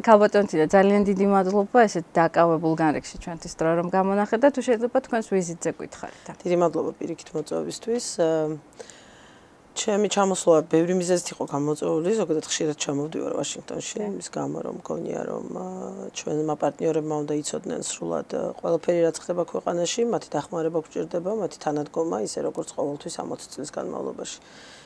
ქალბატონთინა ძალიან დიდი მადლობა ესეთ დაკავებულ განრიგში ჩვენთვის დრო რომ გამონახეთ და თუ შეიძლება თქვენს ვიზიტზე გითხარით. დიდი მადლობა პირიქით მოწვევისთვის. ჩემი ჩამოსვლა ბევრი მიზეზით იყო გამოწვეული, ზოგადად ხშირად ჩამოვდივარ ვაშინგტონში, იმის გამო რომ მგონია რომ ჩვენმა პარტნიორებმა უნდა იცოდნენ სრულად ყველაფერი რაც ხდება ქვეყანაში, მათი დახმარება გვჭირდება, მათი თანადგომა, ისე როგორც ყოველთვის 60 წლის განმავლობაში.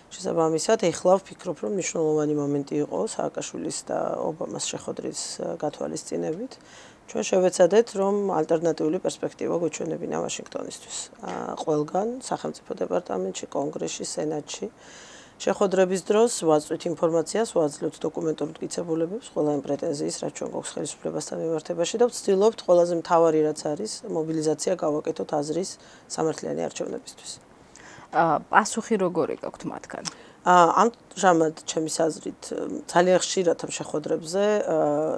შესაბამისად, ეხლა ვფიქრობ, რომ მნიშვნელოვანი მომენტი იყო სააკაშვილის და ობამას შეხვედრის გათვალისწინებით. ჩვენ შევეცადეთ, რომ ალტერნატიული პერსპექტივა გვეჩვენებინა ვაშინგტონისთვის. ყველგან, სახელმწიფო დეპარტამენტში, კონგრესში, სენატში. შეხვედრების დროს ვაწვით ინფორმაციას, ვაძლევთ დოკუმენტურ მტკიცებულებებს, ყველა იმ პრეტენზიის, რაც ჩვენ გვაქვს ხელისუფლებასთან მიმართებაში და ვცდილობთ ყველაზე მთავარი რაც არის, მობილიზაცია გავაკეთოთ აზრის სამართლიანი არჩევნებისთვის. პასუხი როგორი გაქვთ მათგან? ამჟამად ჩემის აზრით ძალიან ხშირად ამ შეხვედრებზე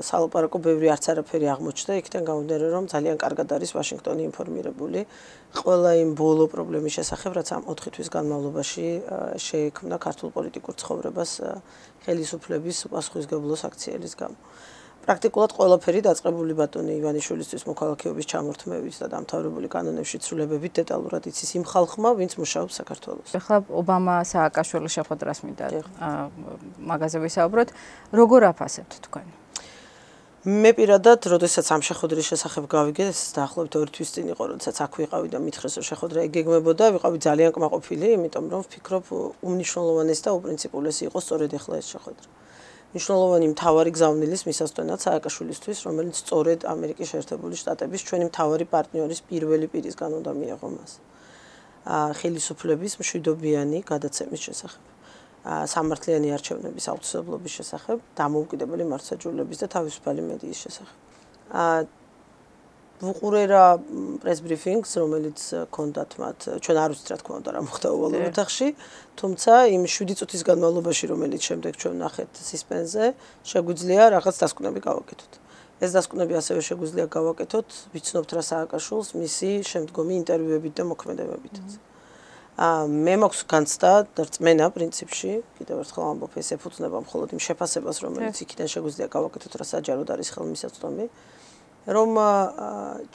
სალაპარაკო ბევრი არც არაფერი აღმოჩნდა, იქიდან გამომდინარე რომ ძალიან კარგად არის ვაშინგტონი ინფორმირებული ყველა იმ ბოლო პრობლემის შესახებ, რაც ამ 4 თვის განმავლობაში შეექმნა ქართულ პოლიტიკურ ცხოვრებას ხელისუფლების უპასუხისმგებლოს აქციელის გამო. პრაქტიკულად ყველაფერი დაწყებული ბატონი ივანიშვილისთვის მოქალაქეობის ჩამორთმევით და დამთავრებული კანონებში ცვლილებებით დეტალურად იცის იმ ხალხმა, ვინც მუშაობს საქართველოს. ახლა ობამა სააკაშვილის შეხვედრას მინდა მაგაზე ვისაუბროთ. როგორ აფასებთ თქვენ? მე პირადად, როდესაც ამ შეხვედრის შესახებ გავიგე, დაახლოებით 2 თვის წინ იყო, როდესაც აქ ვიყავი და მითხრეს რომ შეხვედრა იგეგმებოდა, ვიყავი ძალიან კმაყოფილი, იმიტომ რომ ვფიქრობ უმნიშვნელოვანესი და უპრინციპულესი იყო სწორედ ახლა ეს შეხვედრა. მნიშვნელოვანი მთავარი გზავნილის მისასწორად სააკაშვილისთვის, რომელიც სწორედ ამერიკის შეერთებული შტატების ჩვენი მთავარი პარტნიორის პირველი პირისგან უნდა მიიღო მას. ხელისუფლების მშვიდობიანი გადაცემის შესახებ. სამართლიანი არჩევნების აუცილებლობის შესახებ, დამოუკიდებელი მართლმსაჯულების და თავისუფალი მედიის შესახებ. ვუყურე რა პრეს ბრიფინგს, რომელიც ჰქონდათ მათ, ჩვენ არ ვიცით რა თქმა უნდა რა მოხდა ოვალურ ოთახში, თუმცა იმ 7 წუთის განმავლობაში, რომელიც შემდეგ ჩვენ ნახეთ სისპენზე, შეგვიძლია რაღაც დასკვნები გავაკეთოთ. ეს დასკვნები ასევე შეგვიძლია გავაკეთოთ, ვიცნობთ რა სააკაშვილს მისი შემდგომი ინტერვიუებით და მოქმედებებით. მე მაქვს განცდა და რწმენა პრინციპში, კიდევ ერთხელ ამბობ, ეს ეფუძნება მხოლოდ იმ შეფასებას, რომელიც იქიდან შეგვიძლია გავაკეთოთ, რა საჯაროდ არის ხელმისაწვდომი. რომ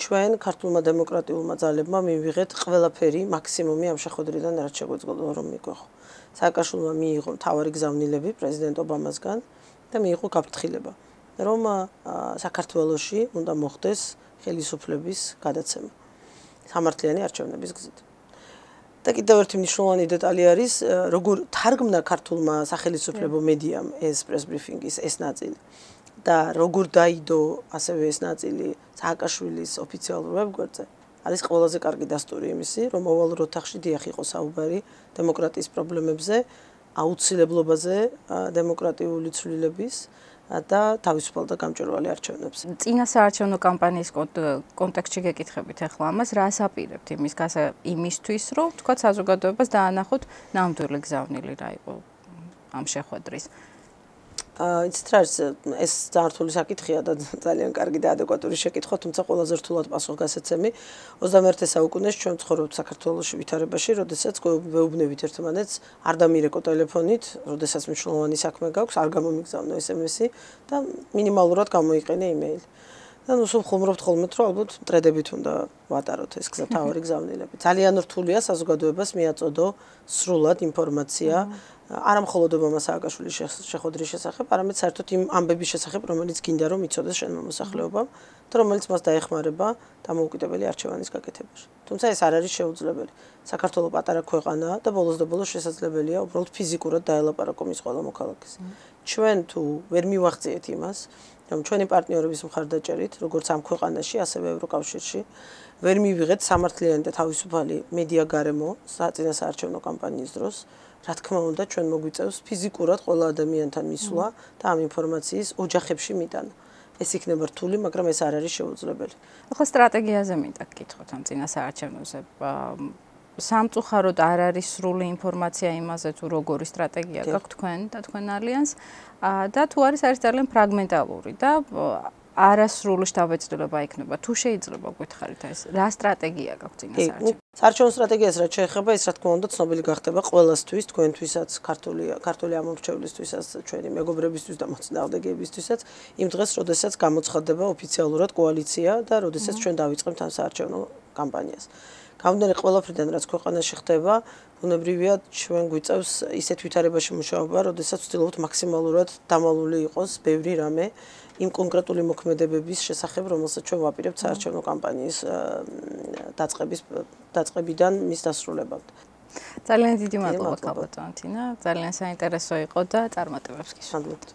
ჩვენ ქართულმა დემოკრატიულმა ძალებმა მივიღეთ ყველაფერი მაქსიმუმი ამ შეხვედრიდან რაც შეგვეძლო რომ მიგვეხო. სააკაშვილმა მიიღო მთავარი გზავნილები პრეზიდენტ ობამასგან და მიიღო გაფრთხილება, რომ საქართველოში უნდა მოხდეს ხელისუფლების გადაცემა სამართლიანი არჩევნების გზით. და კიდევ ერთი მნიშვნელოვანი დეტალი არის, როგორ თარგმნა ქართულმა სახელისუფლებო მედიამ ეს პრეს ბრიფინგის ეს ნაწილი. და როგორ დაიდო ასევე ეს ნაწილი სააკაშვილის ოფიციალურ ვებგვერდზე არის ყველაზე კარგი დასტური იმისი, რომ ოვალურ ოთახში დიახ იყო საუბარი დემოკრატიის პრობლემებზე, აუცილებლობაზე დემოკრატიული ცვლილების და თავისუფალ და გამჭვირვალე არჩევნებზე. წინა საარჩევნო კამპანიის კონტექსტში გეკითხებით ახლა ამას, რას აპირებთ იმისთვის, რომ თქვა საზოგადოებას დაანახოთ ნამდვილი გზავნილი რა იყო ამ შეხვედრის? იცით რა ეს ძართული საკითხია და ძალიან კარგი და ადეკვატური შეკითხვა, თუმცა ყველაზე რთულად პასუხ გასაცემი 21 საუკუნეში ჩვენ ცხოვრობთ საქართველოში ვითარებაში, როდესაც გვეუბნებით ერთმანეთს, არ დამირეკო ტელეფონით, როდესაც მნიშვნელოვანი საქმე გაქვს, არ გამომიგზავნო SMS-ი და მინიმალურად გამოიყენე იმეილი. და ნუ სულ ხუმრობთ ხოლმე, რომ ალბათ მტრედებით უნდა ვატაროთ ეს გზა თავარი გზავნილები. ძალიან რთულია საზოგადოებას მიაწოდო სრულად ინფორმაცია არა მხოლოდ ობამას სააკაშვილის შეხვედრის შესახებ, არამედ საერთოდ იმ ამბების შესახებ, რომელიც გინდა რომ იცოდეს შენმა მოსახლეობამ და რომელიც მას დაეხმარება დამოუკიდებელი არჩევანის გაკეთებაში. თუმცა ეს არ არის შეუძლებელი. საქართველოს პატარა ქვეყანაა და ბოლოს და ბოლოს შესაძლებელია უბრალოდ ფიზიკურად დაელაპარაკო მის ყველა მოქალაქეს. ჩვენ თუ ვერ მივახციეთ იმას, რომ ჩვენი პარტნიორების მხარდაჭერით, როგორც ამ ქვეყანაში, ასევე ევროკავშირში, ვერ მივიღეთ სამართლიანი და თავისუფალი მედია გარემო საწინასაარჩევნო კამპანიის დროს, რა თქმა უნდა, ჩვენ მოგვიწევს ფიზიკურად ყველა ადამიანთან მისვლა და ამ ინფორმაციის ოჯახებში მიტანა. ეს იქნება რთული, მაგრამ ეს არ არის შეუძლებელი. ახლა სტრატეგიაზე მინდა გკითხოთ ამ წინასაარჩევნოზე. სამწუხაროდ არ არის სრული ინფორმაცია იმაზე, თუ როგორი სტრატეგია გაქვთ თქვენ და თქვენ ალიანს და თუ არის ძალიან ფრაგმენტალური და არასრული შთაბეჭდილება იქნება. თუ შეიძლება გითხარით ეს, რა სტრატეგია გაქვთ წინასაარჩევნო? საარჩევნო სტრატეგიას რაც შეეხება, ის რა თქმა უნდა ცნობილი გახდება ყველასთვის, თქვენთვისაც, ქართული ამომრჩევლისთვისაც, ჩვენი მეგობრებისთვის და მოწინააღმდეგეებისთვისაც, იმ დღეს, როდესაც გამოცხადდება ოფიციალურად კოალიცია და როდესაც ჩვენ დავიწყებთ ამ საარჩევნო კამპანიას. გამომდინარე ყველაფრიდან, რაც ქვეყანაში ხდება, ბუნებრივია ჩვენ გვიწევს ისეთ ვითარებაში მუშაობა, როდესაც ვცდილობთ მაქსიმალურად დამალული იყოს ბევრი რამე იმ კონკრეტული მოქმედებების შესახებ, რომელსაც ჩვენ ვაპირებთ საარჩევნო კამპანიის დაწყებიდან მის დასრულებამდე. ძალიან დიდი მადლობა ქალბატონო თინა, ძალიან საინტერესო იყო და წარმატებებს გისურვებთ.